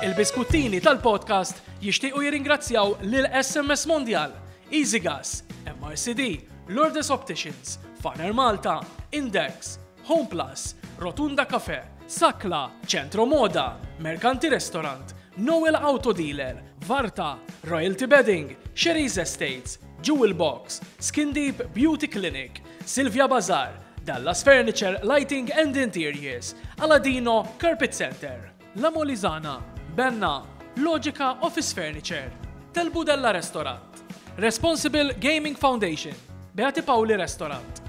Il-Biskuttini tal-podcast jixtiequ jirringrazzjaw lil SMS Mondial, EasyGas, MRCD, Lourdes Opticians, Faner Malta, Index, Home Plus, Rotunda Cafe, Sakla, Centro Moda, Mercanti Restaurant, Noel Auto Dealer, Varta, Royalty Bedding, Sherry's Estates, Jewel Box, Skin Deep Beauty Clinic, Silvia Bazar, Dallas Furniture, Lighting and Interiors, Aladino Carpet Center, La Molizana, Benna, Logica Office Furniture, Tel Budella Restaurant, Responsible Gaming Foundation, Beati Paoli Restaurant.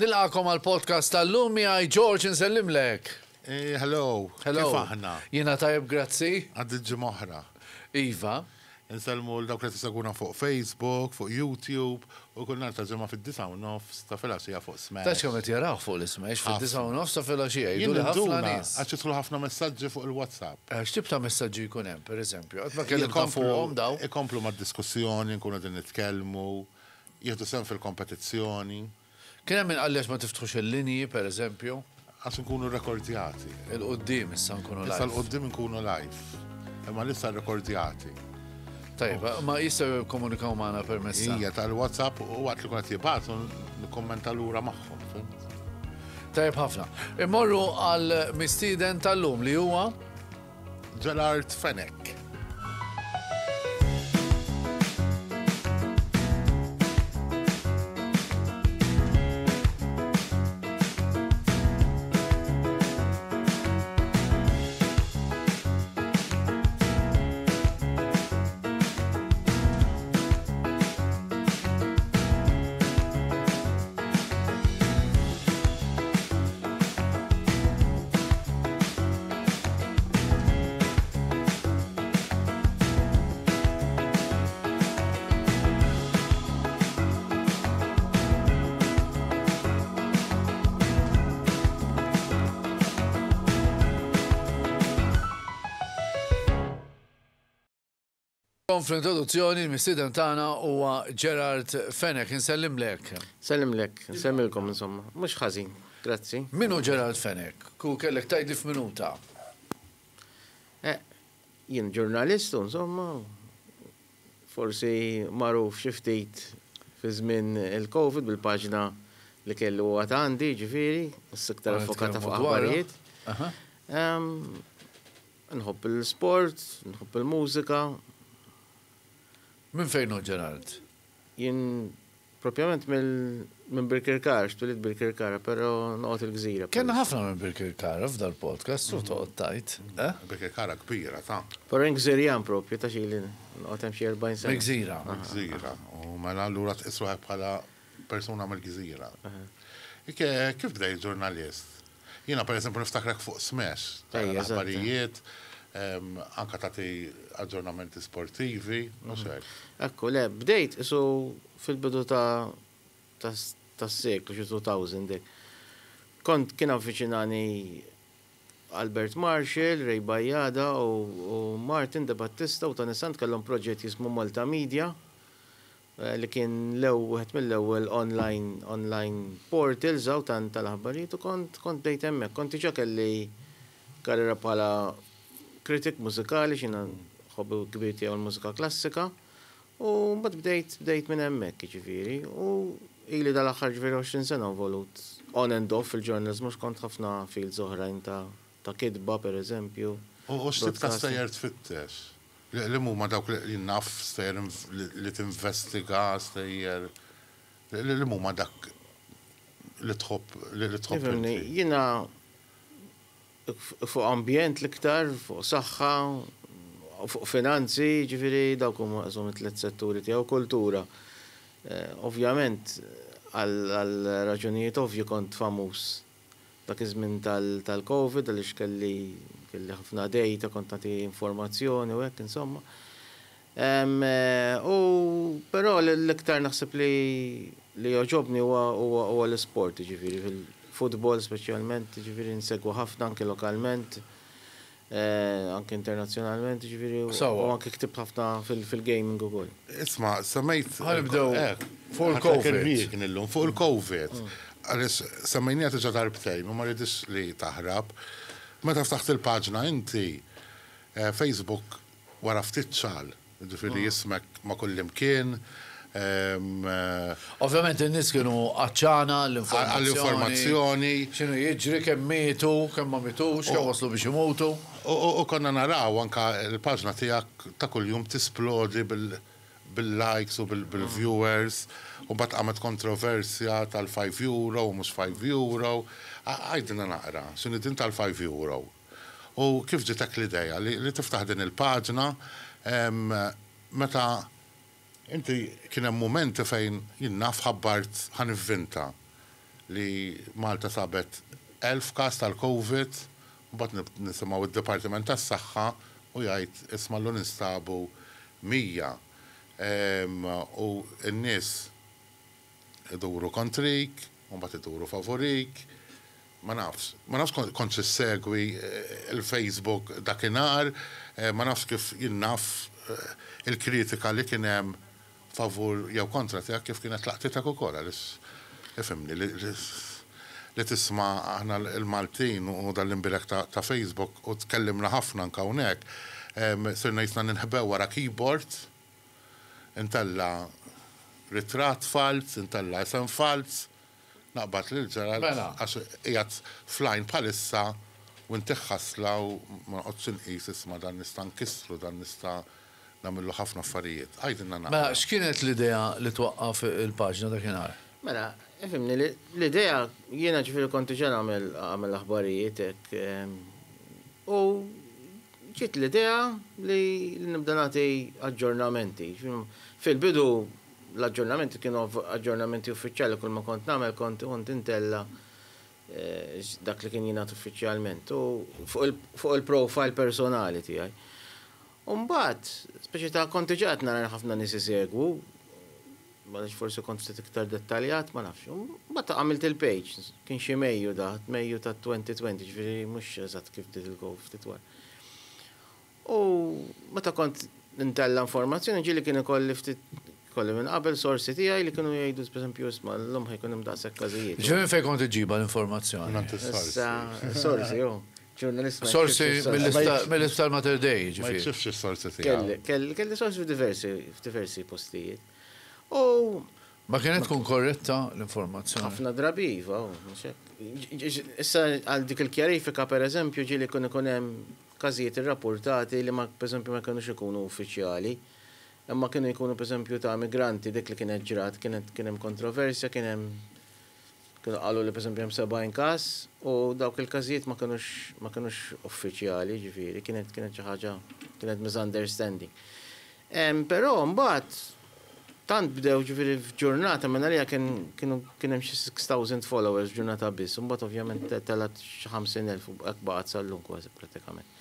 Nilqakom għal podcast tal-lum miegħi George insellimlek. Eh, hello. Hello. Kif aħna? Jiena tajjeb grazzi. Għaddi ġimgħa oħra. Iva. Insellmu l dawk li tisegwuna fuq Facebook, fuq YouTube, u kull nhar ta' ġimgħa fid-disa' u nofs ta' filgħaxija fuq Smash. Tafx kemm qed jaraw fuq l-Smash fid-disa' u nofs ta' filgħaxija Jien jgħidu li ħafna ninduna nies. għax jidħlu ħafna messaġġi fuq il-WhatsApp. Eh, X'tip ta' messaġġi jkun hemm, pereżempju? Qatt ma kellimtna fuqhom daw. Ikomplu mad-diskussjoni, nkunu qegħdin nitkellmu, jieħdu sehem fil-kompetizzjoni. Kien hemm min qalli għax ma tiftħux il-linji, per eżempju. Għax nkunu rrekordjati. Il quddiem issa nkunu live. Issa 'l quddiem nkunu live. Imma issa rrekordjati. Tajjeb, ma jistgħu jikkomunikaw magħna permezz ta'. Hija tal-WhatsApp u waqt li kun qed jibgħatu nikkummenta lura magħhom, fhimt? Tajjeb ħafna. Immorru għal mistieden tal-lum li huwa Gerard Fenech. Fl-introduzzjoni l-mistieden tagħna huwa Gerard Fenech, insellimlek. Sellimlek, insellmilkom insomma, mhux ħażin, grazzi. Min hu Gerard Fenech? Ku kellek tgħidli f'minuta. Eh, jien ġurnalist u insomma, forsi magħruf xi ftit fi żmien il-Covid bil-paġna li kellu għad għandi, ġifieri, issa iktar Għad affokata nitkellmu fuq dwarha. aħbarijiet. Aha. Ehm, Nħobb il-sport, nħobb il-mużika. Minn fejn hu Gerard? Jien propjament minn Birkirkara, xtulit Birkirkara, pero noqgħod il-gżira. Kellna ħafna minn Birkirkara f'dal-podcast, u toqgħod tajt. Eh? Birkirkara kbira, ta' Pero jien gżirjan propju, ta' xili noqgħod hemm xi 40 sena. Mill-gżira. Mill-gżira. U mela allura tqis ruħek bħala persuna mill-gżira. Kif bdejt ġurnalist? Jiena pereżempju niftakrek fuq Smash, tara l-aħbarijiet, anke tagħti aġġornamenti sportivi, mhux hekk? Ekku, le, bdejt isu fil-bidu ta' tas-seklu, xi 2000 hekk. Kont kien avviċinani Albert Marshall, Ray Bajada u Martin De Battista u Tony Sant kellhom proġett jismu Malta Media li kien l-ew wieħed mill-ewwel online online portals hawn tan tal-aħbarijiet u kont kont bdejt hemmhekk. Kont diġà kelli karriera bħala critic mużikali x'jiena hobby kbir tiegħu l-mużika klassika u mbagħad bdejt bdejt minn hemmhekk jiġifieri u ili dal-aħħar ġifieri 20 sena involut on and off fil-ġurnaliżmu għax kont ħafna fields oħrajn ta' ta' kitba pereżempju. U x'tip ta' stejjer tfittex? Li huma dawk li naf stejjer li tinvestiga, stejjer li huma dak li tħobb li tħobb. Ifhimni, jiena fuq ambjent l-iktar, fuq saħħa, fuq finanzi, jiġifieri dawk huma qishom it-tliet setturi tiegħi u kultura. Ovvjament għal raġunijiet ovvji kont famuż Dak iż-żmien tal-Covid għaliex kelli kelli ħafna data, kont nagħti informazzjoni u hekk insomma. U però l-iktar naħseb li li jogħġobni huwa huwa l-isport, jiġifieri fil-futbol speċjalment, jiġifieri nsegwu ħafna anke lokalment. Anke internazzjonalment, ġifieri, u anke ktibt ħafna fil-gaming ukoll. Isma', semmejt. Ħa nibdew fuq il-Covid. Illum fuq il-Covid. Għaliex semmejniha diġà darbtejn u ma rridix li taħrab. Meta ftaħt il-paġna inti, Facebook wara ftit ċagħal, jiġifieri ismek ma' kullimkien. Ovvjament in-nies kienu għatxana għall-informazzjoni. Għall-informazzjoni. X'inhu jiġri, kemm mietu, kemm ma mietux, kemm waslu biex imutu. U konna naraw anke l-paġna tiegħek ta' kuljum tisplodi bil bil-likes u bil-viewers u mbagħad qamet kontroversja tal-five euro u mhux five euro. Għidilna naqra, x'inhi din tal-five euro? U kif ġietek l-idea li tiftaħ din il-paġna meta inti kien hemm mumenti fejn jien naf ħabbart ħa nivvinta li Malta sabet 1000 każ tal-Covid u mbagħad nisimgħu d-Dipartiment tas-Saħħa u jgħid isma' llum instabu 100 u n-nies iduru kontrik u mbagħad iduru favurik. Ma nafx. Ma nafx kontx issegwi l-Facebook dakinhar, ma nafx kif jien naf il-kritika li kien hemm favur jew kontra tiegħek kif kienet laqtitek ukoll għaliex ifhimni li li tisma' aħna l-Maltin u dan l-imbierek ta' Facebook u tkellimna ħafna anke hawnhekk sirna jisna ninħbew wara keyboard intella' ritratt falz, intella' isem falz, naqbad lil Gerald għax qiegħed fl-għajn bħalissa u intih ħasla u ma noqgħodx inqis isma' dan nista' nkissru, dan nista' nagħmillu ħafna affarijiet. Għidilna naqra. Mela, x'kienet l-idea li twaqqaf il-paġna dakinhar? Mela, ifhimni, l-idea jiena ġifieri kont diġà nagħmel għamel aħbarijiet hekk u ġiet l-idea li nibda nagħti aġġornamenti. Fil-bidu l-aġġornamenti kienu aġġornamenti uffiċjali kull ma kont nagħmel kont kont intella' dak li kien jingħad uffiċjalment u fuq il-profile personali tiegħi. U mbagħad, speċi ta' kont diġà qed nara li ħafna nies isegwu, għaliex forsi kont ftit iktar dettaljat, ma nafx. Mbagħad għamilt il-page, kien xi Mejju da, Mejju ta' 2020, ġifieri mhux eżatt kif bdiet il-Covid, ftit wara. U meta kont ntella' informazzjoni ġieli kien ikolli ftit kolli minn qabel sorsi tiegħi li kienu jgħidu pereżempju isma' llum ħa jkun hemm daqshekk każijiet. Ġifieri minn fejn kont iġġibha l-informazzjoni? Mingħand is-sorsi. Issa, sorsi, hu. Ġurnalist ma Sorsi jikxifx is-sorsi. mill-Isptar Mater Dei, Ma jiġifieri. jikxifx is-sorsi tiegħu. Kelli, kelli sorsi f'diversi, f'diversi postijiet. U. Ma kienet tkun korretta l-informazzjoni? Ħafna drabi iva, hu, mhux hekk. Issa għal dik il-kjarifika pereżempju ġieli jkun ikun hemm każijiet irrappurtati li ma pereżempju ma kinux ikunu uffiċjali, imma kienu jkunu pereżempju ta' migranti dik li kienet ġrat, kienet kien hemm kontroversja, kien hemm kienu qalu li pereżempju hemm 70 każ u dawk il-każijiet ma kinux ma kinux uffiċjali, jiġifieri kienet kienet xi ħaġa kienet misunderstanding. Però mbagħad tant bdew ġifieri f'ġurnata minn għalija kien kienu kien hemm xi 6,000 followers f'ġurnata biss, u mbagħad ovvjament telgħet xi 50,000 u hekk baqgħet sal-lum kważi prattikament.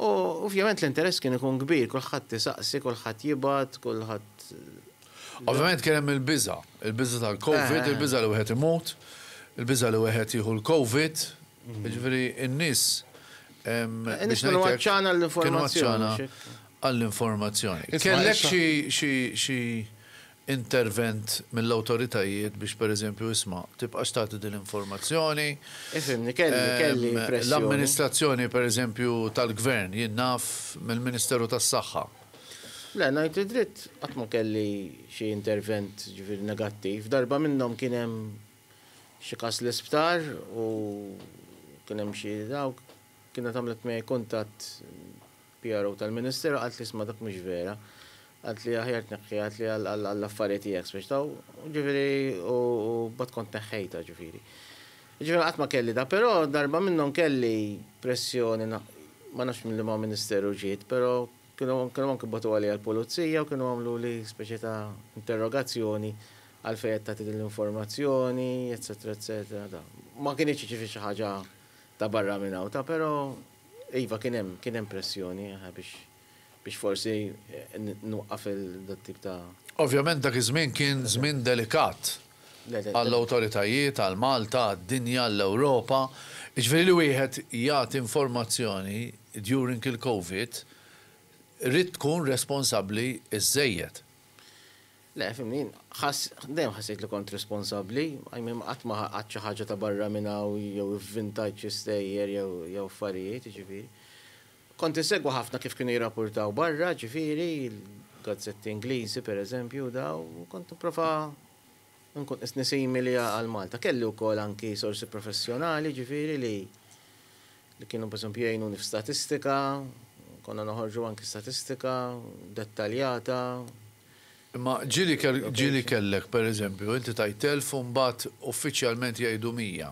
U ovvjament l-interess kien ikun kbir, kulħadd isaqsi, kulħadd jibgħat, kulħadd. Ovvjament kien hemm il-biża', il-biża' tal-Covid, il-biża' li wieħed imut, il-biża' li wieħed jieħu l-Covid, jiġifieri n-nies biex kienu għatxana għall-informazzjoni. Għall-informazzjoni. Kellek xi intervent mill-awtoritajiet biex pereżempju isma' tibqax tagħti din l-informazzjoni? Ifhimni, kelli, kelli pressjoni. L-amministrazzjoni pereżempju tal-Gvern, jien naf mill-Ministeru tas-Saħħa. Le, ngħid id-dritt qatt ma kelli xi intervent ġifieri negattiv. Darba minnhom kien hemm xi każ l-isptar u kien hemm xi dawk, kienet għamlet miegħi kuntatt PRO tal-Ministeru qaltli isma' dak mhux vera. Qaltli aħjar tneħħiha qaltli għall-affari tiegħek speċi ta' ġifieri u mbagħad kont neħħejtha ġifieri. Ġifieri qatt ma kelli da, però darba minnhom kelli pressjoni ma nafx minn liema ministeru ġiet, però kienu kienu anke bagħtu għalija l-pulizija u kienu għamluli speċi ta' interrogazzjoni għalfejn qed tagħti din l-informazzjoni, eċċetera eċċetera da. Ma kinitx ġifieri xi ħaġa ta' barra minn hawn ta' però Iva kien hemm kien hemm pressjoni biex biex forsi nwaqqaf il dat-tip ta'. Ovvjament dak iż-żmien kien żmien delikat għall-awtoritajiet, għal Malta, għad-dinja, għall-Ewropa. Jiġifieri li wieħed jagħti informazzjoni during il-Covid ridt tkun responsabbli żżejjed. Le, fhimni, jien ħass, dejjem ħassejt li kont responsabbli, I mean qatt ma għadt xi ħaġa ta' barra minn hawn jew ivvintajt xi stejjer jew jew affarijiet, jiġifieri. Kont insegwi ħafna kif kienu jirrapurtaw barra, ġifieri, il-gazzetti Ingliżi per eżempju u daw, u kont nipprova nkun qisni simili għal Malta. Kelli wkoll anki sorsi professjonali, ġifieri, li li kienu per eżempju jgħinuni f'statistika, konna noħorġu anki statistika dettaljata. Imma ġieli ġieli kellek per eżempju, inti tgħid 1000 u mbagħad uffiċjalment jgħidu 100.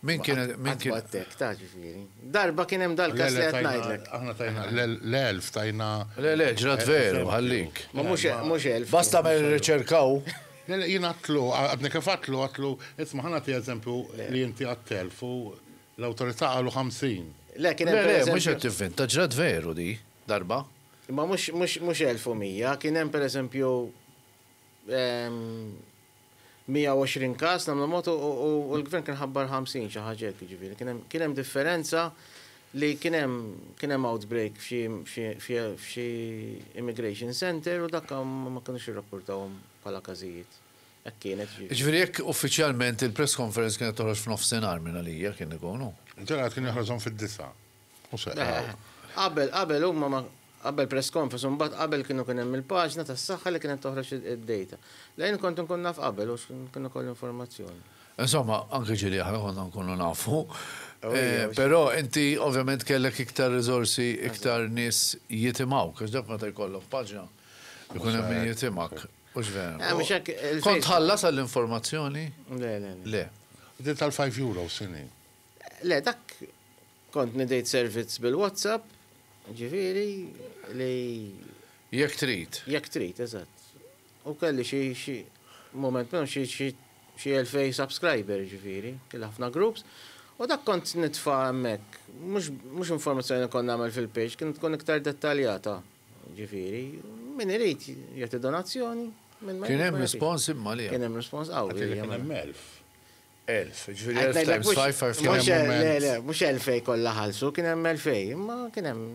Min kien min kien. Qatt hekk ta' ġifieri. Darba kien hemm dal-każ li qed ngħidlek. Aħna tajna l-1000 tajna. Le le ġrat veru ħallik. Ma mhux mhux 1000. Basta ma jirriċerkaw. Le le jien għadtlu, għadni kif għadtlu, għadtlu, isma' ħa nagħti eżempju li inti għadt 1000 u L-awtorità qalu 50. Le, kien hemm. Le, le, mhux qed tivvinta, ġrat veru di, darba. Imma mhux mhux mhux 1100, kien hemm pereżempju 120 każ nagħmlu mod u l-gvern kien ħabbar 50 xi ħaġa hekk jiġifieri. Kien hemm kien hemm differenza li kien hemm kien hemm outbreak f'xi f'xi f'xi immigration center u dak ma kinux irrappurtawhom bħala każijiet. Hekk kienet, ġifieri. Jiġifieri jekk uffiċjalment il-press conference kienet toħroġ f'nofsinhar minn għalija kien ikun hu. Gerard kien joħroġhom fid-disgħa. Mhux hekk. Qabel, qabel huma ma, qabel press conference u mbagħad qabel kienu kien hemm il-paġna tas-saħħa li kienet toħroġ id-data. Le jien kont inkun naf qabel u kien ikolli informazzjoni. Insomma, anke ġieli aħna konna nkunu nafu. Però inti ovvjament kellek iktar riżorsi, iktar nies jitimgħuk, għax dak meta jkollok paġna jkun hemm min jitimgħek. Hux vera? Eh, mhux hekk. Kont tħallas għall-informazzjoni? Le, le, le. Din tal-5 euro x'inhi? Le, dak kont nidejt servizz bil-WhatsApp, ġifieri li. Jekk trid. Jekk trid, eżatt. U kelli xi xi moment minnhom xi xi xi 2000 subscriber ġifieri, kelli ħafna groups. U dak kont nitfa' hemmhekk, mhux informazzjoni li kont nagħmel fil-page, kienet tkun iktar dettaljata. Ġifieri, min irid jagħti donazzjoni, min ma Kien hemm rispons imma li. Kien hemm rispons qawwi. Kien hemm 1000. 1000, ġifieri 1000 times 5, 5 Le, le, mhux 2000 kollha ħallsu, kien hemm 2000, imma kien hemm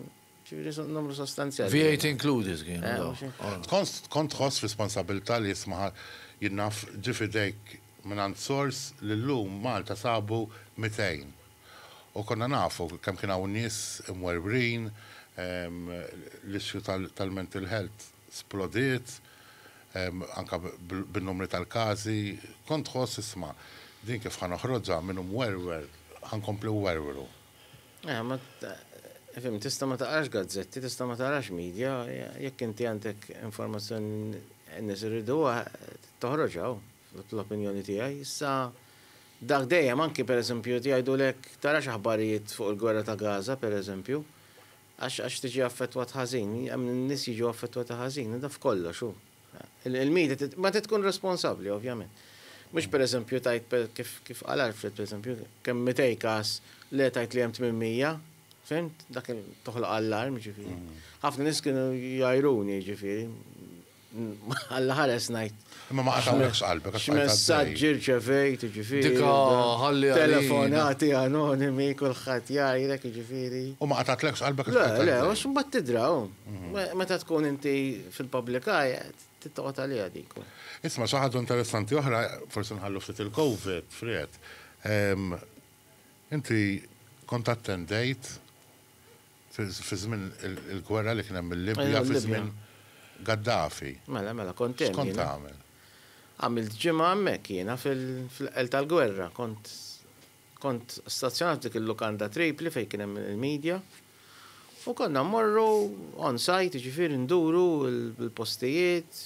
ġifieri numru sostanzjali. VAT included kien. Kont tħoss responsabilità li jisma' jien naf ġie f'idejk mingħand sors li llum Malta sabu 200. U konna nafu kemm kien hawn nies imwerwrin, l-issue tal-mental health splodiet, anke bin-numri tal-każi. Kont tħoss isma' din kif ħa noħroġha min hu mwerwer ħa nkompli nwerwru. Eh, ma fim, tista' ma taqrax gazzetti, tista' ma tarax media, jekk inti għandek informazzjoni n-nies iriduha toħroġha l-opinjoni tiegħi. Issa Dak dejjem, anki per eżempju jgħidulek tarax aħbarijiet fuq il-gwerra ta' Gaza per eżempju, għax għax tiġi affettwat ħażin, hemm nies jiġu affettwati ħażin, da f'kollox hu. Il-media ma trid tkun responsabbli ovvjament. Mhux per eżempju tgħid kif kif qal Alfred per eżempju, kemm 200 każ le tgħid li hemm 800, fhimt? Dak toħloq allarm ġifieri. Ħafna nies kienu jgħajruni ġifieri. Alla ħares ngħid. Imma ma qatgħulekx qalbek għax bqajt għaddej. X'messaġġi rċevejt, jiġifieri. Dika ħalli għalina. Telefonati anonimi, kulħadd jgħajrek, jiġifieri. U ma qatgħatlekx qalbek għax bqajt għaddej. Le, le, għax imbagħad tidra hu. Meta tkun inti fil-public eye, trid toqgħod għaliha dik. Isma' xi ħaġa interessanti oħra, forsi nħallu ftit il-Covid, Fred. Inti kont attendejt Fi żmien il-gwerra li kien hemm il-Libja, fi żmien Gaddafi. Mela, mela, kont hemm. X'kont tagħmel? Għamilt ġimgħa hemmhekk jiena fil-qel tal-gwerra. Kont kont stazzjonat f'dik il-lukanda Tripli fejn kien hemm il-media. U konna mmorru on site, jiġifieri nduru l-postijiet,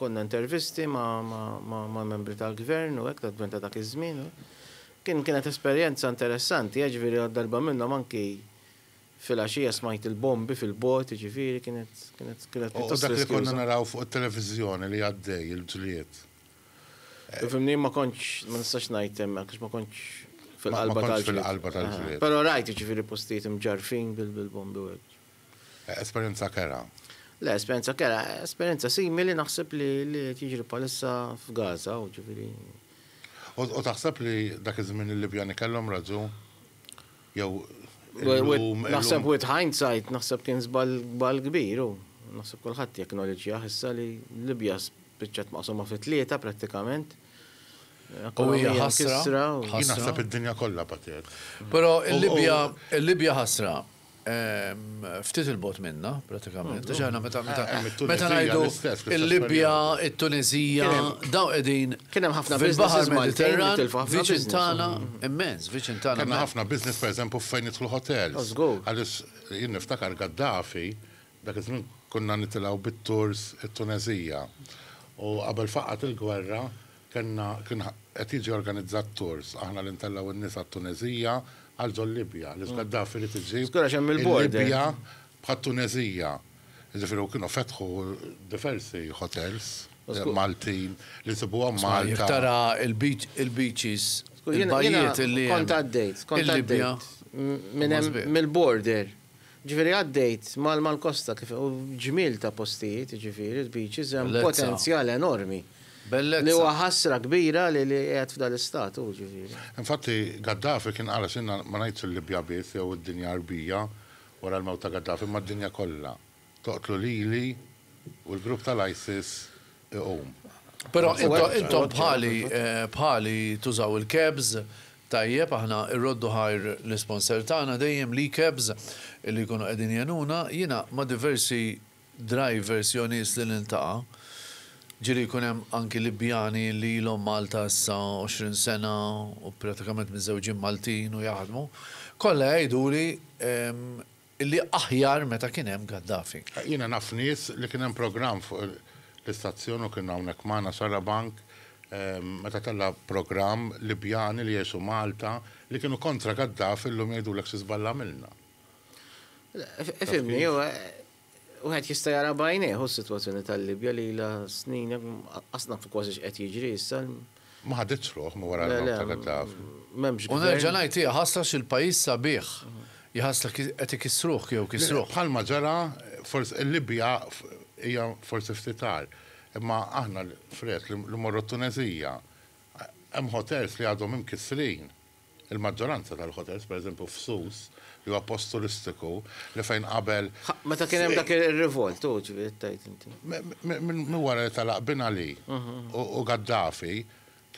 konna intervisti ma' membri tal-gvern u hekk, tal-gvern ta' dak iż-żmien. Kien kienet esperjenza interessanti, jiġifieri darba minnhom anki filgħaxija smajt il-bombi fil-bogħod, jiġifieri kienet kienet kienet pjuttost riskjuża. U dak li konna naraw fuq it-televiżjoni li għaddej il-ġlied. Ifhimni ma kontx ma nistax ngħid hemmhekk għax ma kontx fil-qalba tal-ġlied. Ma kontx fil-qalba tal-ġlied. Però rajt jiġifieri postijiet imġarrfin bil-bombi u hekk. Esperjenza kerha. Le, esperjenza kerha, esperjenza simili naħseb li li qed jiġri bħalissa f'Gaza, u ġifieri. U taħseb li dak iż-żmien il-Libjani kellhom raġun? Jew illum. Naħseb with hindsight naħseb kien żball żball kbir u naħseb kulħadd jacknowledġjah issa li Libja. Spiċċat maqsuma fi tlieta prattikament. U hija ħasra. Jien naħseb id-dinja kollha batiet. Però il-Libja, il-Libja ħasra. Ftit il-bot minna, pratikament. Għax aħna meta meta meta ngħidu il-Libja, it-Tuneżija, dawn qegħdin Kien hemm ħafna fil-Baħar businesses Maltin li Mediterran, tilfu ħafna viċin business. tagħna, immens, viċin tagħna. Kellna ħafna business pereżempju fejn jidħlu hotels. Oh, żgur. Għaliex jien niftakar Gaddafi, dak iż-żmien konna nitilgħu bit-tours it-Tuneżija. U qabel faqqgħet il-gwerra kellna kien qed jiġi organizzat tours aħna li ntellgħu n-nies għat-Tuneżija għal ġol-Libja. Għaliex Gaddafi ried iġib Żgur għax hemm il-border. il-Libja bħat-Tuneżija. Jiġifieri u kienu fetħu diversi hotels Maltin li nsibuhom Jekk Malta. tara il-beach, il-beaches, Żgur, jiena- jiena il-bajjiet illi hemm. Kont għaddejt, kont Il-Libja. għaddejt minn hemm Huma sbieħ. mill-border. Ġifieri għaddejt mal mal-kosta kif u ġmiel ta' postijiet, ġifieri, il-beaches hemm Bellezza. potenzjal enormi. Bellezza. Li huwa ħasra kbira li li qiegħed f'dal-istat hu ġifieri. Infatti Gaddafi kien qal għax jiena ma ngħidx il-Libja biss jew id-dinja Għarbija wara l-mewt ta' Gaddafi imma d-dinja kollha. Toqtlu lili u l-grupp tal-ISIS iqum. Però intom bħali bħali tużaw il-cabs, tajjeb aħna rroddu ħajr l-isponsor tagħna dejjem l-e-cabs li jkunu qegħdin jgħinuna, jiena ma' diversi drivers jew nies li niltaqa' ġieli jkun hemm anki Libjani li ilhom Malta issa 20 sena u pratikament miżżewġin Maltin u jaħdmu, kollha jgħiduli Illi aħjar meta kien hemm Gaddafi. Jiena naf nies li kien hemm programm fuq l-istazzjon u kien hawnhekk magħna Xarabank meta tella' programm Libjani li jgħixu Malta li kienu kontra Gaddafi llum jgħidulek xi żball għamilna. Ifhimni, wieħed jista' jara b'għajnejh hu s-sitwazzjoni tal-Libja li ilha snin qas nafu kważi x'qed jiġri issa. Ma ħaditx ruħ minn wara l-mewt ta' Gaddafi. M'hemmx U nerġa' ngħid hija ħasra x'il-pajjiż sabiħ. Jħassla qed ikissruh jew kisruh. Bħalma ġara forsi il-Libja hija forsi ftit agħar. Imma aħna Fred li mmorru t-Tuneżija hemm hotels li għadhom imkissrin. Il-maġġoranza tal-hotels, pereżempju f'Sus, li huwa post turistiku, li fejn qabel. Meta kien hemm dak ir-rivolt, hu ġifieri qed tgħid inti. Minn wara li telaq Bin Ali u Gaddafi,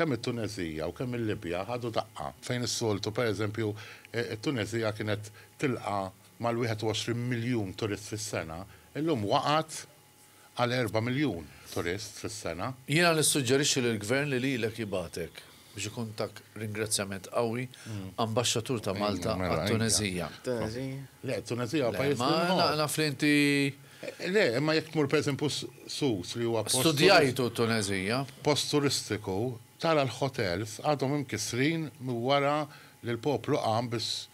Kemm it-Tuneżija u kemm il-Libja ħadu daqqa, fejn is-soltu, per eżempju, it-Tuneżija kienet tilqa' mal-21 miljun turist fis-sena, illum waqgħet għal erba' miljun turist fis-sena. Jiena nissuġġerixxi lill-Gvern li lilek jibgħatek, biex ikun tak ringrazzjament qawwi, Ambaxxatur ta' Malta għat-Tuneżija. Le, t-Tuneżija huwa pajjiż li nħobb. Le, ma naf li inti. Le, imma jekk tmur pereżempju Sousse li huwa post. Studjajtu t-Tuneżija. Post turistiku, tara l-hotels għadhom imkissrin minn wara li l-poplu qam biex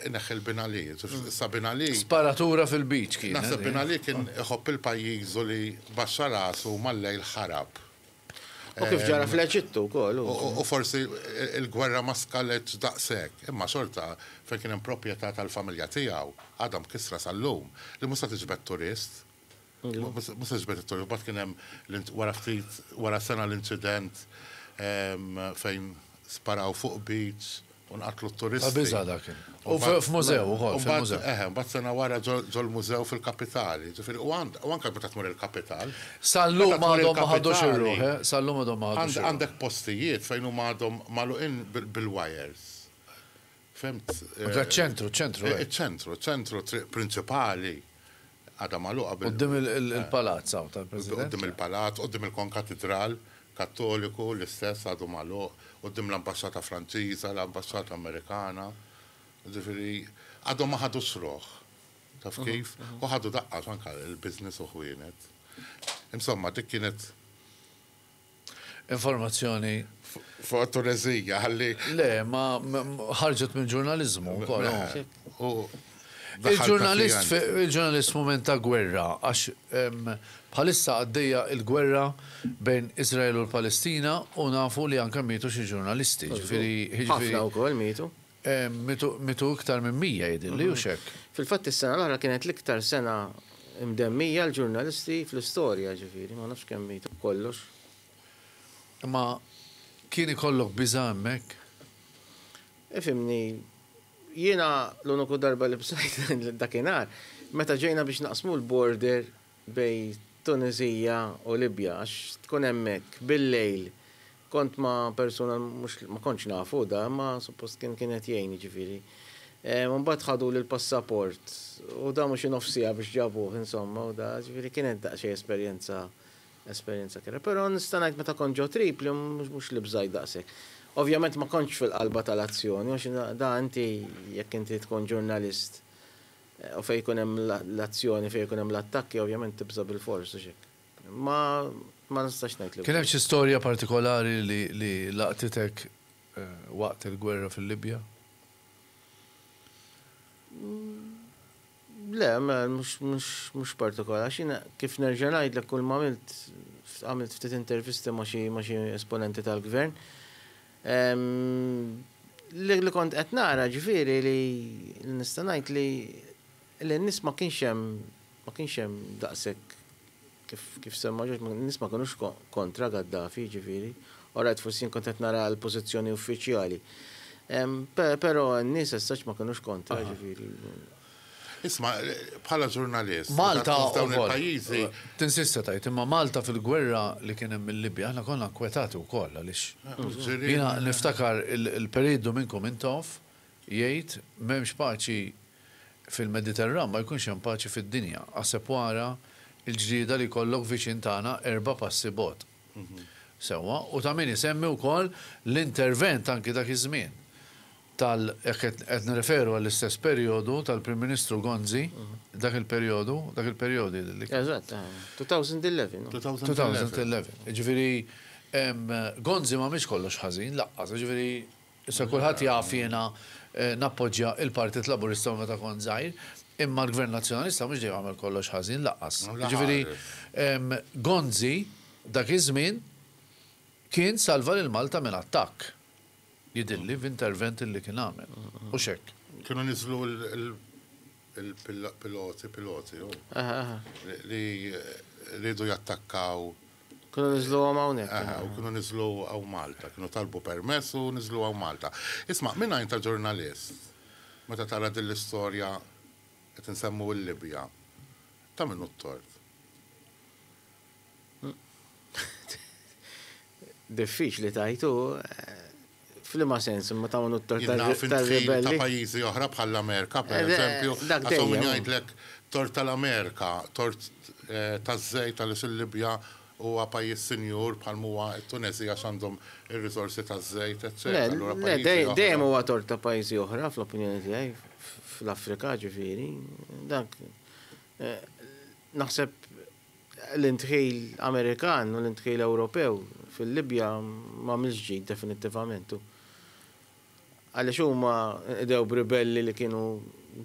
ineħħi l-Bin Ali. Issa Bin Ali. Sparatura fil-beach kienet. Naħseb Bin Ali kien iħobb il-pajjiżu li baxxa rasu u mal-lejl ħarab. U kif ġara fl-Eġittu wkoll. U forsi l-gwerra ma skaletx daqshekk, imma xorta fejn kien hemm proprjetà tal-familja tiegħu, għadha mkissra sal-lum, li mhux se tiġbed turist. Mhux se tiġbed it-turist. Mbagħad kien hemm wara ftit, wara sena l-inċident fejn sparaw fuq beach U nqatlu t-turisti. Ta' biża' dak kien. U f'mużew ukoll, fil-mużew. Eħe, mbagħad sena wara ġol-mużew fil-kapitali. Ġifieri, u anke meta tmur il-kapital. Sal-lum għadhom ma ħadux ir-ruħ, eh? Sal-lum għadhom ma ħadux ir-ruħ. Għandek postijiet fejn huma għadhom magħluqin bil-wires. Fhimt? Anke ċ-ċentru, ċ-ċentru. Iċ-ċentru, ċentru, triq prinċipali għadha magħluqa bil. Quddiem il-palazz hawn tal-President. Quddiem il-palazz, quddiem il-Konkatidral. Kattoliku, l-istess għadu magħluq, quddiem l-ambaxxata Franċiża, l-ambaxxata Amerikana. Jiġifieri għadhom ma ħadux ruħ. Taf kif? U ħadu daqqa għax anke l-business u ħwienet. Insomma, dik kienet. Informazzjoni. Fuq it-Tuneżija ħalli. Le, ma ħarġet mill-ġurnaliżmu wkoll. U Il-ġurnalist il-ġurnalist f'mument ta' gwerra għax bħalissa għaddejja l-gwerra bejn Iżrael u l-Palestina u nafu li anke mietu xi ġurnalisti. Ġifieri Ħafna wkoll mietu. Mietu iktar minn 100 jidhirli hux hekk? Fil-fatt is-sena l-oħra kienet l-iktar sena mdemmija l-ġurnalisti fl-istorja ġifieri ma nafx kemm mietu b'kollox. Imma kien ikollok biża' hemmhekk? Ifhimni, Jiena l-uniku darba li bżajt dakinhar, meta ġejna biex naqsmu l-border bejn Tunisija u Libja għax tkun hemmhekk bil-lejl kont ma' persuna mhux ma kontx nafu da imma suppost kien kien qed jgħin jiġifieri. U mbagħad ħaduli l-passaport u damu xi nofs siegħa biex ġabuh insomma u da ġifieri kienet daqsxejn esperjenza esperjenza kerha. Però nista' ngħid meta kont ġo Tripli mhux li bżajt daqshekk. Ovvjament ma kontx fil-qalba tal-azzjoni għax da inti jekk inti tkun ġurnalist U fejn ikun hemm l-azzjoni, fejn ikun hemm l-attakki, ovvjament tibża' bilfors, hux hekk. Ma ma nistax ngħid li. Kien hemm xi storja partikolari li li laqtitek waqt il-gwerra fil-Libja? Le, mhux mhux mhux partikolari, għax jiena kif nerġa' ngħidlek kull ma għamilt għamilt ftit intervisti ma' xi ma' xi esponenti tal-gvern. Li kont qed nara ġifieri li nista' ngħid li li n-nies ma kienx hemm ma kienx hemm daqshekk kif kif semma Ġorġ, n-nies ma kinux kontra Gaddafi ġifieri. All right forsi jien kont qed nara l-pożizzjoni uffiċjali. Però n-nies as such ma kinux kontra ġifieri. Isma', bħala ġurnalist, Malta f'dawn ukoll. il-pajjiżi. Tinsista tgħid, imma Malta fil-gwerra li kien hemm il-Libja aħna konna nkwetati wkoll għaliex jiena niftakar il-Perit Duminku Mintoff jgħid m'hemmx paċi fil-Mediterran ma jkunx hemm paċi fid-dinja. Aħseb wara l-ġlieda li jkollok viċin tagħna erba' passi bogħod. Sewwa, u ta' min isemmi wkoll l-intervent anki dak iż-żmien tal, jekk qed nirreferu għall-istess perjodu tal-Prim Ministru Gonzi, dak il-perjodu, dak il-perjodu jidhirli. Eżatt, 2011. 2011. Jiġifieri, Gonzi m'għamilx kollox ħażin, laqqas, jiġifieri, issa kulħadd jaf jiena nappoġġja il-Partit Laburista minn meta kont żgħir, imma l-Gvern Nazzjonalista mhux dejjem għamel kollox ħażin, laqqas. Jiġifieri, Gonzi dak iż-żmien kien salva lil Malta minn attakk. Jidhirli f'intervent li kien għamel. Hux hekk? Kienu niżlu l-piloti, piloti, hu? Li riedu jattakkaw. Kienu niżluhom hawnhekk. Aha, u kienu niżlu hawn Malta. Kienu talbu permess u niżlu hawn Malta. Isma' minn għajn ta' ġurnalist, meta tara din l-istorja qed insemmu l-Libja, ta' min hu t-tort? Diffiċli tgħid hu f'liema sens imma ta' unu t-tort tar-ribelli. Ta' pajjiżi oħra bħall-Amerika, per eh, eżempju, dak dejjem min jgħidlek tort tal-Amerika, tort eh, taż-żejt għaliex il-Libja huwa pajjiż sinjur bħal huwa t-Tuneżija x'għandhom ir-riżorsi taż-żejt, eċċetera. Dejjem huwa tort ta' pajjiżi oħra fl-opinjoni tiegħi fl-Afrika ġifieri. Dak eh, naħseb L-indħil Amerikan u l-indħil Ewropew fil-Libja m'għamilx ġid definittivament u għaliex huma nqdew b'ribelli li kienu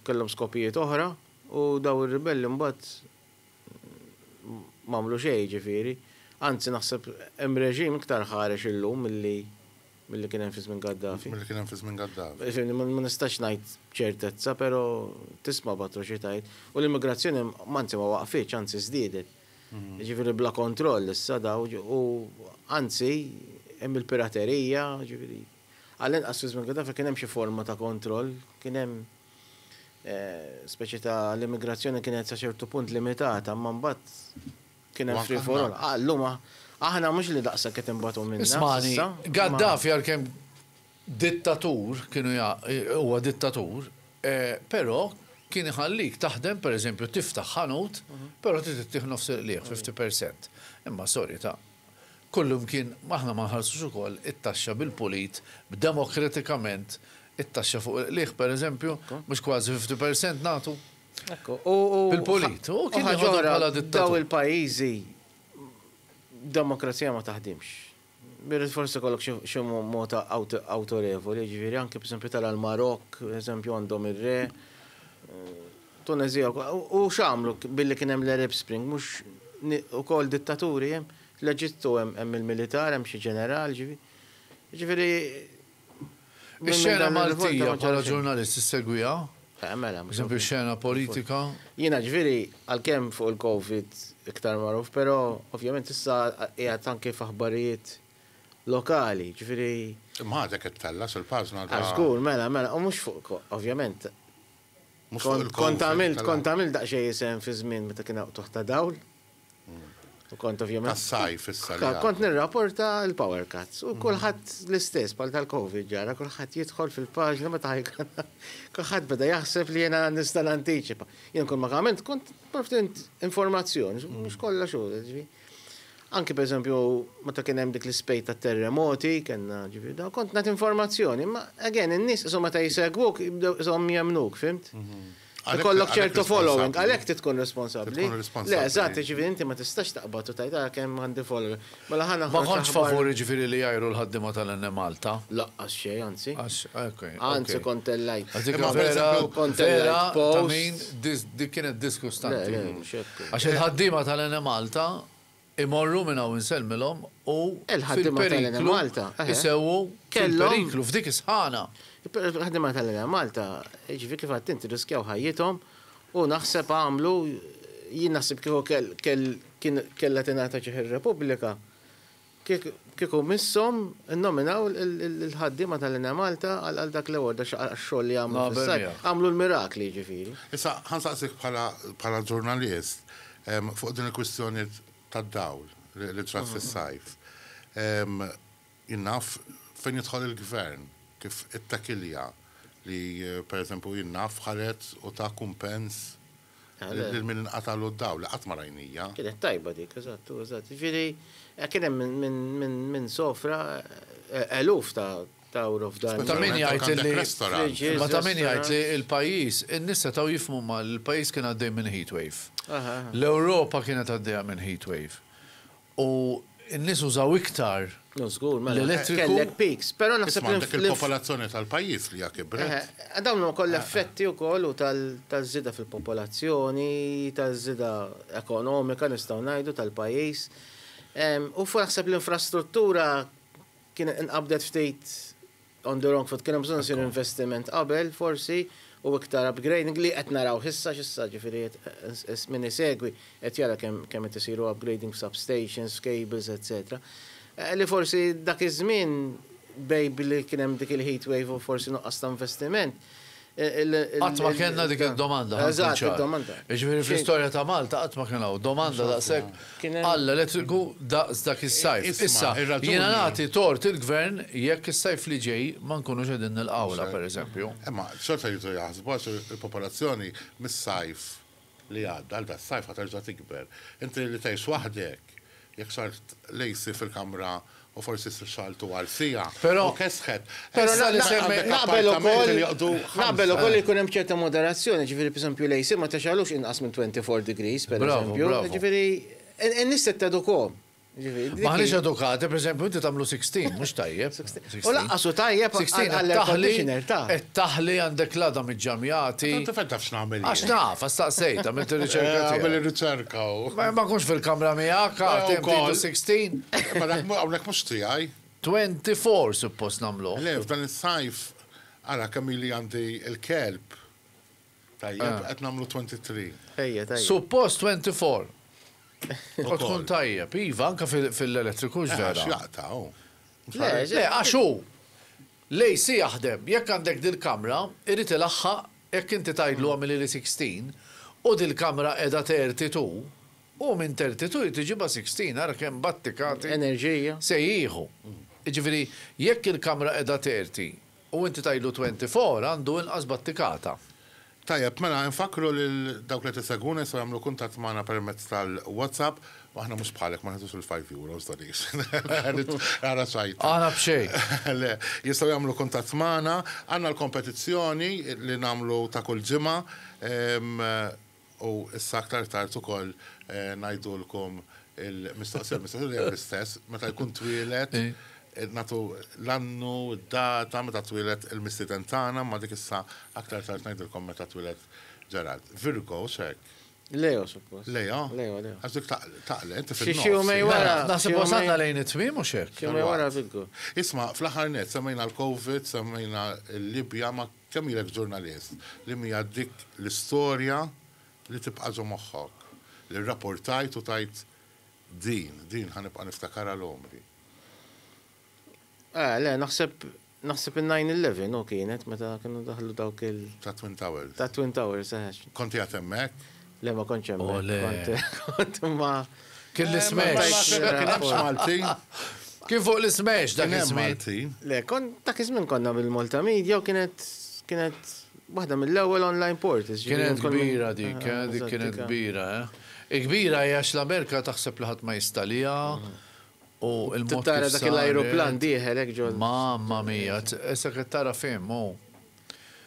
kellhom skopijiet oħra u daw ir-ribelli mbagħad m'għamlu xejn jiġifieri. Anzi naħseb hemm reġim iktar ħarex illum milli Milli kien hemm fi żmien Gaddafi. Milli kien hemm fi żmien Gaddafi. Ifhimni, ma nistax ngħid b'ċertezza, però tisma' b'atroċitajiet. U l-immigrazzjoni anzi ma waqfitx, anzi żdiedet. Jiġifieri bla kontroll issa daw u anzi hemm il-piraterija, jiġifieri għall-inqas fi żmien Gaddafi kien hemm xi forma ta' kontroll, kien hemm speċi ta' l-immigrazzjoni kienet sa ċertu punt limitata, imma mbagħad Kien hemm free for all. Ah, llum aħna mhux li daqshekk qed inbatu minnha. Ismagħni, Gaddafi għalkemm dittatur, kienu huwa dittatur, però kien iħallik taħdem pereżempju tiftaħ ħanut, però trid ittih nofs il-qligħ, 50%. Imma sorry ta' kullimkien aħna ma nħallsux ukoll it-taxxa bil-pulit, b'demokratikament it-taxxa fuq il-qligħ pereżempju, mhux kważi 50% nagħtu. Ekku, u. Bil-pulit, u kien jeħodhom bħala dittatur. Daw il-pajjiżi demokrazija ma taħdimx. Birrid forsi kollok xi mod awtorevoli, ġifieri anke pereżempju tara l-Marokk, eżempju għandhom ir-re, Tunezija u x'għamlu billi kien hemm l-Arab Spring, mhux ukoll dittaturi hemm, l-Eġittu hemm il-militar, hemm xi ġeneral, ġifieri. Ġifieri Ix-xena Maltija bħala ġurnalist issegwiha? Eh, mela, mhux Eżempju x-xena politika? Jiena ġifieri għalkemm fuq il-Covid iktar magħruf, però ovvjament issa qiegħed anke f'aħbarijiet lokali, ġifieri. Imma għadek qed tella' sul-paġna ta' ah, Żgur, mela, mela, u mhux fuq, ovvjament. Kont għamilt, kont għamilt daqsxejn isem fi żmien meta kien hawn ta' dawl. U kont ovvjament. Tas-sajf issa li Kont nirrapporta l-power cuts u kulħadd l-istess bħal tal-Covid ġara, kulħadd jidħol fil-paġna meta ħajkun kulħadd beda jaħseb li jiena nista' nantiċipa. Jien kull ma għamilt kont provdint informazzjoni, mhux kollha xogħol, ġifieri. Anki per eżempju, meta kien hemm dik l-ispejt ta' terremoti, kellna ġifieri dawn, kont nagħti informazzjoni, imma again in-nies qishom meta jsegwuk jibdew qishom jemmnuk, fhimt? Ikollok ċertu following, għalhekk trid tkun responsabbli. Le, eżatt, jiġifieri inti ma tistax taqbad u tgħid ara kemm għandi follower. Mela ħa Ma kontx favur jiġifieri li jgħajru l-ħaddiema tal-Enemalta? Laqqas xejn, anzi. Għax, okej. Anzi kont tellajt. Għax dik vera, vera, ta' min, dik kienet diskustanti. Le, le, mhux hekk. Għax il-ħaddiema tal-Enemalta imorru minn hawn insellmilhom u fil-periklu isewwu fil-periklu f'dik is-sħana. Il-ħaddiema tal-Enemalta, jiġifieri kif għedt inti, rriskjaw ħajjithom u naħseb għamlu, jien naħseb kieku kellha tingħata ġieħ ir-Repubblika, Kieku misshom innominaw il-ħaddiema tal-Enemalta għal dak l-award għax għax-xogħol li għamlu fis-sajf. Għamlu l-mirakli jiġifieri. Issa ħa nsaqsik bħala ġurnalist fuq din il-kwistjoni tad-dawl li ġrat fis-sajf. Jien naf fejn jidħol il-Gvern kif ittakilja li pereżempju jien naf ħareġ u ta kumpens Lil min inqatagħlu d-dawl, li qatt ma rajnija. Kienet tajba dik, eżatt, eżatt. Jiġifieri kien hemm min sofra eluf ta' euro f'dan. Ta' min jgħid li Ma ta' min jgħid li l-pajjiż, in-nies setgħu jifhmu ma l-pajjiż kien għaddej minn heat wave. L-Ewropa kienet għaddejja minn heat wave. U n-nies użaw iktar l-elettriku. Kellek peaks, però naħseb li. Għandek il-popolazzjoni tal-pajjiż li hija kibret. Dawn huma kollha effetti wkoll u taż-żieda fil-popolazzjoni, taż-żieda ekonomika nistgħu ngħidu tal-pajjiż. U naħseb l-infrastruttura kienet inqabdet ftit on the wrong foot, kien hemm bżonn isir investiment qabel forsi u iktar upgrading li qed narawh issa x'issa ġifieri min isegwi qed jara kemm kemm qed isiru upgrading f'substations, f'cables, etc. Li forsi dak iż-żmien bej billi kien hemm dik il-heat wave u forsi nuqqas ta' investiment, Qatt ma kellna dik id-domanda. Eżatt, id-domanda. Jiġifieri fl-istorja ta' Malta qatt ma kien hawn domanda daqshekk għall-elettriku daqs dak is-sajf. Issa, jiena nagħti tort il-Gvern jekk is-sajf li ġej ma nkunux qegħdin nilqgħulha, pereżempju. Imma xorta jridu jaħsbu għax il-popolazzjoni mis-sajf li għadda għal das-sajf ħa terġa' tikber. Inti li tgħix waħdek, jekk xgħalt l-AC fil-kamra u forsi xgħaltu għal siegħa u kesħet. Però naqbel ukoll naqbel ukoll li jkun hemm ċerta moderazzjoni, ġifieri pereżempju l-AC ma tixgħalux inqas minn 24 degrees pereżempju. Ġifieri in-nies trid tedukhom. Maħniex edukati, per eżempju, inti tagħmlu 16, mhux tajjeb. U lanqas hu tajjeb għall-air conditioner ta'. Qed taħli għandek l-għadam iġġamjati. Inti fejn taf x'nagħmel jien? Għax naf, għax staqsejt, għamilt ir-riċerka tiegħi. Għamel ir-riċerka hu. Ma nkunx fil-kamra miegħek, għad hemm 16. Ma dak hawnhekk mhux tiegħi. 24 suppost nagħmluh. Le, f'dan is-sajf, ara kemm ili għandi l-kelb. Tajjeb, qed nagħmlu 23. Ejja, tajjeb. Suppost 24. U tkun tajjeb, iva, anke fil-elettriku hux vera. Għax jaqta' hu. Le, le, għax hu l-AC jaħdem, jekk għandek dil-kamra, irid ilaħħaq jekk inti tgħidlu agħmilili 16 u dil-kamra qiegħda 32, hu minn 32 jrid iġibha 16, ara kemm battikati Enerġija. se jieħu. Jiġifieri jekk il-kamra qiegħda 30 U inti tgħidlu 24 għandu inqas battikata. Tajjeb, mela infakkru lil dawk li qed isegwuna jistgħu jagħmlu kuntatt magħna permezz tal-WhatsApp u aħna mhux bħalek ma nagħtux il-five euros donation. Ara ċajta. Aħna b'xejn. Le, jistgħu jagħmlu kuntatt magħna. Għandna l-kompetizzjoni li nagħmlu ta' kull ġimgħa. U issa aktar tard ukoll ngħidulkom il-mistoqsija, il-mistoqsija dejjem l-istess, meta jkun twieled nagħtu l-annu, id-data, meta twieled il-mistieden tagħna, imma dik issa aktar tard ngħidilkom meta twieled Gerald. Virgo, hux hekk? Leo, suppost. Leo? Leo, Leo. Għax dik taqle, inti fin-nofs. Xi jumej wara. Naħseb wasalna lejn it-tmiem hux hekk? Xi jumej wara Virgo. Isma', fl-aħħar nett semmejna l-Covid, semmejna l-Libja, ma Kemm ilek ġurnalist? Li hija dik l-istorja li tibqa' ġo moħħok, li rrapportajt u tgħid din, din ħa nibqa' niftakarha għal għomri? Eh, le, naħseb, naħseb in-9/11 hu kienet meta kienu daħlu dawk il. Ta' Twin Towers. Ta' Twin Towers, eħe. Kont qiegħed hemmhekk? Le, ma kontx hemmhekk. Oh, le. Kont, kont ma. Kien l-Smash. Kien hemmx Maltin. Kien fuq l-Smash dak Kien hemm iż-żmien. Maltin. Le, kon dak iż-żmien konna bil-Malta Media u kienet kienet waħda mill-ewwel online portals. ġifieri Kienet kont minn- kbira dik, Ah, eh, dik eżatt, kienet dik, ah. kbira, eh. Kbira hija għax l-Amerika taħseb li ħadd ma jistaliha u il-mod Tara kif dak l-ajruplan saret. dieħel hekk ġol. Mamma mia, issa qed tara film, hu.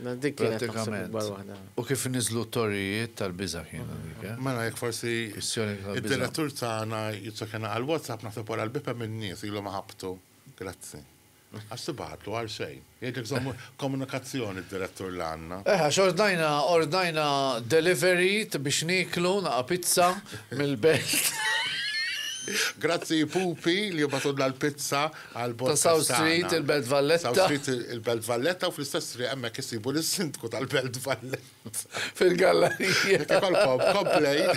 Na, Dik kienet naħseb Pratikament. ikbar waħda. U kif niżlu t-torrijiet tal-biża' kienu dik, eh? Mela jekk forsi Kwistjoni tal-biża'. id-direttur tagħna jiċċekkjana għal WhatsApp naħseb wara l-bieb hemm in-nies ilhom ħabtu. Grazzi. Għax tibgħatlu għal xejn. Jgħidlek żommu komunikazzjoni d-direttur li għandna. Eh, għax ordnajna, ordnajna delivery t- biex niklu naqa pizza mill-belt Grazzi Pupi li jibgħatulna l-pizza għal ta' South Street, il-Belt Valletta. South Street il-Belt Valletta u fl-istess triq hemmhekk isibu lis-sindku tal-Belt Valletta. Fil-gallerija. Jekk ikolkom complain.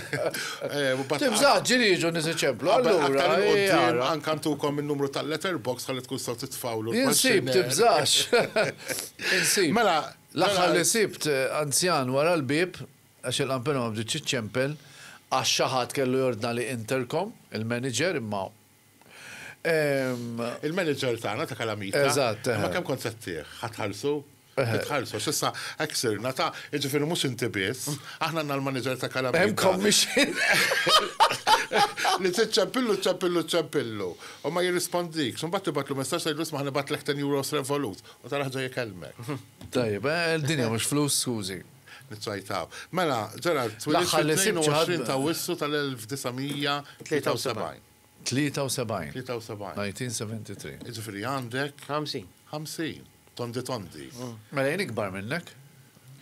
eh, u bat- Tibża' ġiri jiġu nies iċemplu, allura. Aktar eh, il-qoddim ara. anka ntukom il-numru tal-letterbox ħalli tkun saw titfawlu. Insib, tibżax. Insib. Mela, L-aħħar mela- li sibt eh, anzjan wara l-bib, għax il-qampina ma bdietx iċċempel, għax xi ħadd kellu jordna li intercom, il-manager imma. Em, Il-manager tagħna ta' Kalamita. Eżatt, eh. Ma kemm kont se ttih? Ħa tħallsu? Tħallsu, s'issa hekk sirna ta' jiġifieri mhux inti biss, aħna għandna l-manager ta' Kalamita. Hemm commission. Li tiċċempillu, ċempillu, ċempillu. U ma jirrispondik. Mbagħad tibgħatlu messaġġ tgħidlu isma' ħa nibgħatlek 10 euros Revolut. U tara ġej jkellmek. Tajjeb, eh, il-dinja mhux flus, skużi. Niċċajtaw. Mela, Gerard, twilidt L-aħħar li sibt xi ħadd- 22 ta' Awwissu tal-1973. 73. 73. 1973. Jiġifieri għandek 50. 50. Tondi tondi. Mela jien ikbar minnek.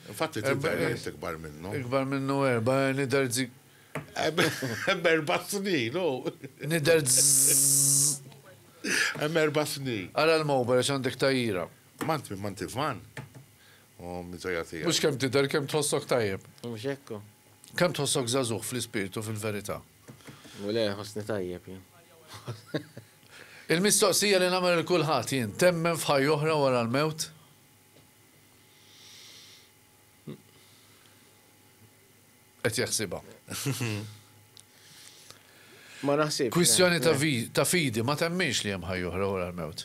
Infatti tidher li inti ikbar minnu. Ikbar minnu erba, nidher zi. Hemm erba' snin, u. Nidher zzz. Hemm erba' snin. Ara l-mobile għax għandek tajjira. Mant minn manti van. U miżoja tiegħek. Mhux kemm tidher kemm tħossok tajjeb. Mhux hekk. Kemm tħossok żagħżugħ fl-ispirtu fil-verità. U le, ħossni tajjeb jien. Il-mistoqsija li nagħmel lil kulħadd jien, temmen f'ħajja oħra wara l-mewt? Qed jaħsibha. Ma naħsibx. Kwistjoni le, ta' le. vi- ta' fidi, ma temminx li hemm ħajja oħra wara l-mewt.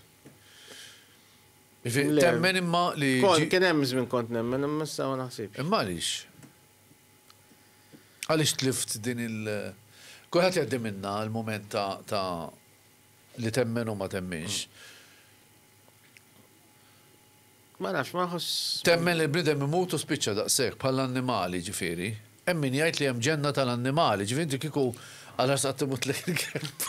Jiġifieri, Le. Temmen imma li. Kont ġi- kien hemm żmien kont nemmen imma issa ma naħsibx. Imma għaliex? Għaliex tlift din il- Kulħadd jgħaddi minna l-moment ta' ta' li temmen u ma temminx. Ma nafx, ma nħoss. Temmen li l-bniedem imut u spiċċa daqshekk bħall-annimali ġifieri. Hemm min jgħid li hemm ġenna tal-annimali, ġifieri inti kieku għal ras qatt imut lek il-kelb.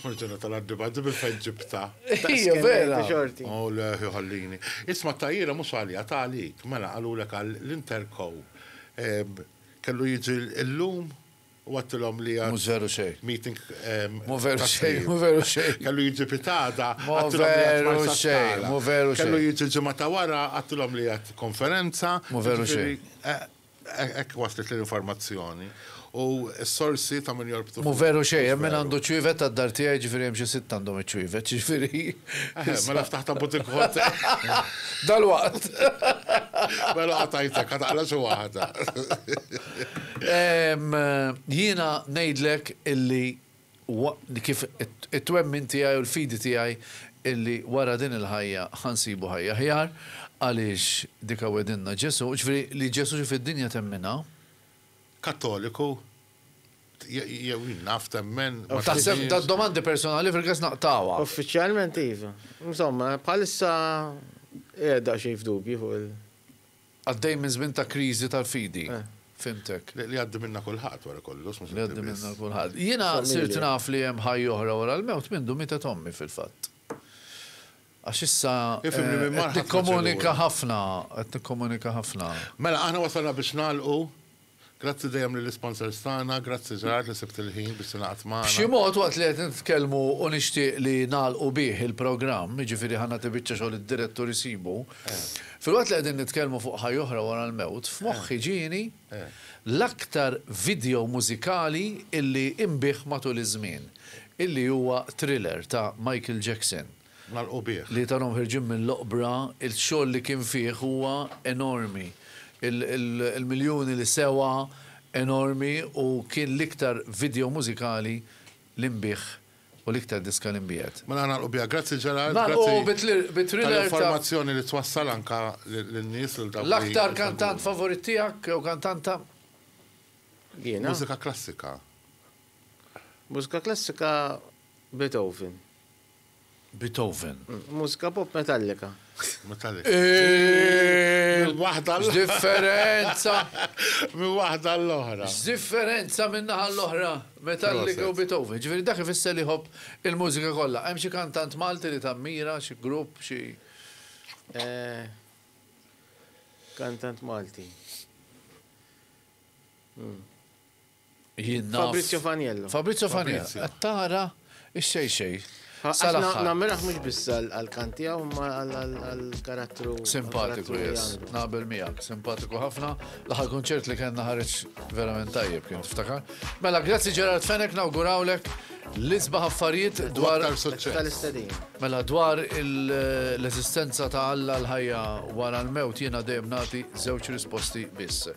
Ġenna tal-annimali, minn fejn ġibta. Hija vera. Xorti. Oh, le, ħallini. Isma tajjira mhux għalija ta' għalik, mela qalulek għal l-Interco. Em, Kellu jiġi l-lum u għattilhom li għad Mhux veru xejn. meeting. em, Mhu veru ta' xejn, trim. mhu veru xejn. Kellu jiġi pitada, Mhu għattilhom li għad veru Marsa xejn, Skala. mhu veru Kellu xejn. jiġi ġimgħa ta' wara, għattilhom li għad konferenza. Mhu veru Ġifieri, eh, eh, Hekk waslet l-informazzjoni. U s-sorsi ta' min jorbtu. Mhu veru xejn, hemm min għandu ċwievet tad-dar tiegħi ġifieri hemm xi sitt għandhom iċ-ċwievet, ġifieri. Eh, Mela ftaħta butik hotel. Dalwaqt. Mela qatajtek, ħataqla xi waħda. Em, Jiena ngħidlek illi wa- kif it- it-twemmin tiegħi u l-fidi tiegħi illi wara din il-ħajja ħansibu ħajja ħjar għaliex dika wedinna Ġesu, ġifieri li Ġesu ġie fid-dinja temmina. Kattoliku, je- jew jien naf temmen. ma Taħseb temminx. da domandi personali fil-każ naqtawha. Uffiċjalment iva. Insomma, bħalissa qiegħed daqsxejn f'dubju fuq il. Għaddej minn żmien ta' kriżi tal-fidi. Eh. Fimtek. Li li għaddi minna kulħadd wara kollox, mhux Li inti għaddi biss. minna kulħadd. Jiena Familja. sirt naf li hemm ħajja oħra wara l-mewt mindu mietet ommi fil-fatt. Għax issa Ifhimni eh, minn qed marħat ma nikkomunika ċellula. ħafna, qed nikkomunika ħafna. Mela, aħna wasalna biex nagħlqu. Grazzi dejjem lill-sponsors tagħna, grazzi Ġerard li sibt il-ħin biex tingħaqad magħna. B'xi mod waqt li qed nitkellmu u nixtieq li nagħlqu bih il-programm, jiġifieri ħa nagħti biċċa xogħol id-direttur isibu. Filwaqt li qegħdin nitkellmu fuq ħajja oħra wara l-mewt, f'moħħi ġieni l-aktar video mużikali illi inbiegħ matul iż-żmien, illi huwa Thriller ta' Michael Jackson. Nagħlqu bih. Li tarhom ħirġin mill-oqbra, il-xogħol li kien fih huwa enormi. Il-miljuni li sewa, enormi u kien l-iktar video mużikali li nbiegħ u l-iktar diska li nbiegħet. Mela nagħlqu biha. Grazzi Gerard, Nagħlqu grazzi bi thriller ta' tal-informazzjoni li twassal anka lin-nies lil dawk li L-aktar kantant favorit tiegħek jew kantanta? Jiena? Mużika klassika. Mużika klassika Beethoven. Beethoven. Mużika pop Metallica. Metallica. Minn waħda l X'differenza! Minn waħda l-oħra. X'differenza minn naħa l-oħra Metallica u Beethoven. Ġifieri dak ifisser li jħobb il-mużika kollha. Hemm xi kantant Malti li tammira, xi grupp, xi. Eh, kantant Malti. Hmm. Jien naf. Fabrizio Faniello. Fabrizio Faniello. Qed tara ix-xejn xejn. Sal-aħħar. Nammirah mhux biss għall-kant tiegħu imma għall-karattru. Simpatiku, yes. Naqbel miegħek, simpatiku ħafna. L-aħħar kunċert li kellna ħareġ verament tajjeb kien tiftakar. Mela, grazzi Gerard Fenech, nawgurawlek l-isbaħ affarijiet dwar. Tal-istedin. Mela dwar l-eżistenza ta' Alla l-ħajja wara l-mewt jiena dejjem nagħti żewġ risposti biss.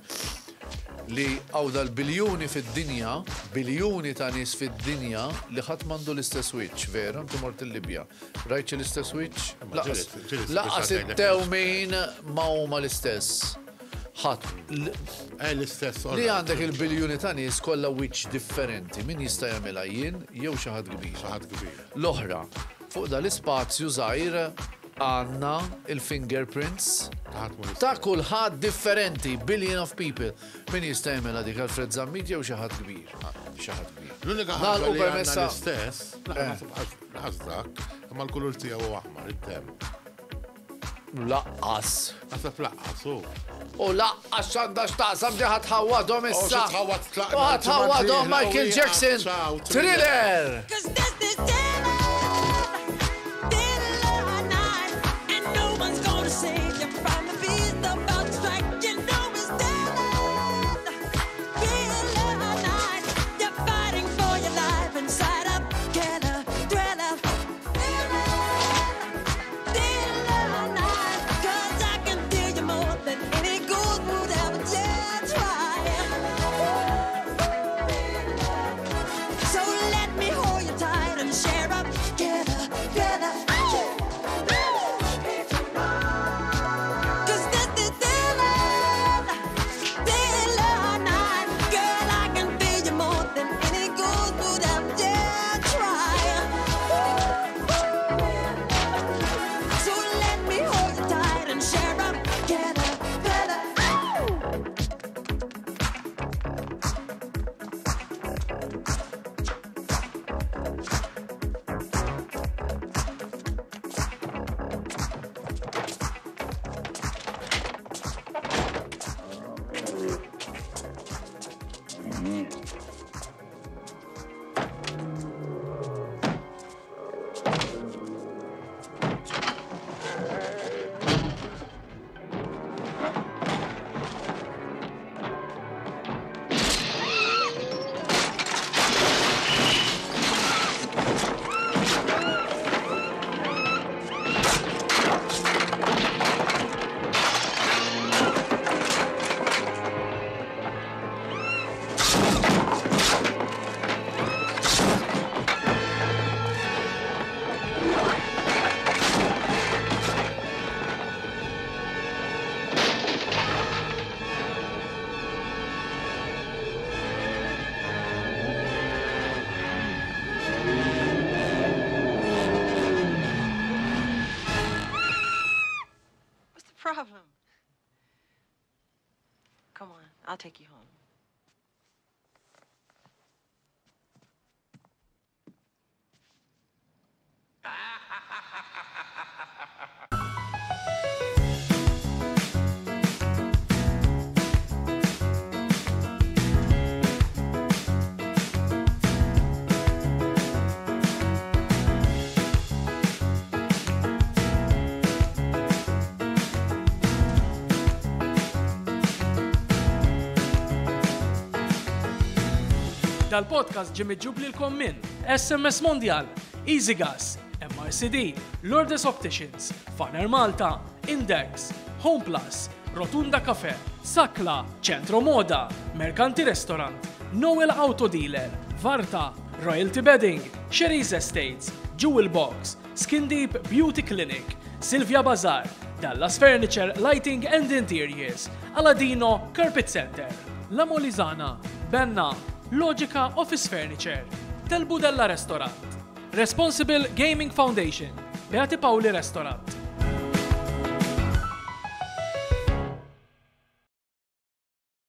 Li hawn dal-biljuni fid-dinja, biljuni ta' nies fid-dinja li ħadd m'għandu l-istess wiċċ, vera, inti mort il-Libja. Rajt xi l-istess wiċċ? Lanqas lanqas it-tewmin ma huma l-istess. Ħadd. Eh, l-istess. Li għandek il-biljuni ta' nies kollha wiċċ differenti, min jista' jagħmilha jien jew xi ħadd kbir. Xi ħadd kbir. L-oħra, fuq dal-ispazju żgħir għandna il-fingerprints ta' kulħadd differenti, billion of people. Min jista' jagħmilha dik Alfred Zammit jew xi ħadd kbir? Xi ħadd kbir. L-unika ħaġa li għandna l-istess, lanqas dak, imma l-kulur tiegħu huwa aħmar, id-demm. Laqqas. Naħseb laqqas, u. U laqqas x'għandha x'taqsam di ħa tħawwadhom issa. Tħawwad U ħa tħawwadhom Michael Jackson. Thriller! What's the problem? Come on, I'll take you home. Dal-podcast ġie miġjub lilkom minn SMS Mondial, EasyGas, MRCD, Lourdes Opticians, Faner Malta, Index, Home Plus, Rotunda Cafe, Sakla, Centro Moda, Mercanti Restaurant, Noel Auto Dealer, Varta, Royalty Bedding, Sherry's Estates, Jewel Box, Skin Deep Beauty Clinic, Silvia Bazaar, Dallas Furniture, Lighting and Interiors, Aladino Carpet Center, La Molizana, Benna, Logica Office Furniture, Tel Budella Restaurant, Responsible Gaming Foundation, Beati Paoli Restaurant.